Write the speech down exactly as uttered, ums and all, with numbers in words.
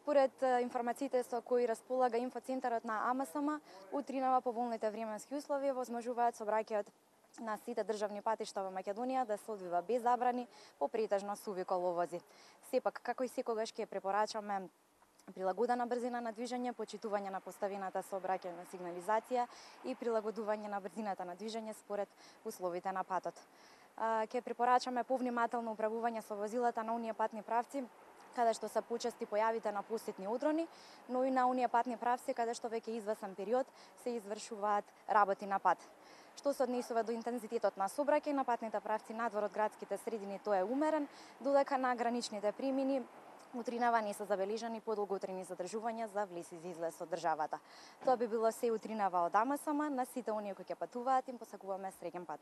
Според информациите со кои располага инфоцентарот на АМСМ, утринава поволните временски услови возможуваат сообраќајот на сите државни патишта во Македонија да се одвива без забрани по претежно суви коловози. Сепак, како и секогаш ќе препорачаме прилагодена брзина на движење, почитување на поставената сообраќајна сигнализација и прилагодување на брзината на движење според условите на патот. Ќе препорачаме повнимателно управување со возилата на оние патни правци каде што се почести појавите на посетни одрони, но и на оние патни правци каде што веќе извесен период се извршуваат работи на пат. Што се однесува до интензитетот на сообраќај на патните правци надвор од градските средини, тој е умерен, додека на граничните премини утринава не се забележани подолготрени задржувања за влез и излез од државата. Тоа би било се утринава од АМСМ. На сите оние кои ќе патуваат им посакуваме среќен пат.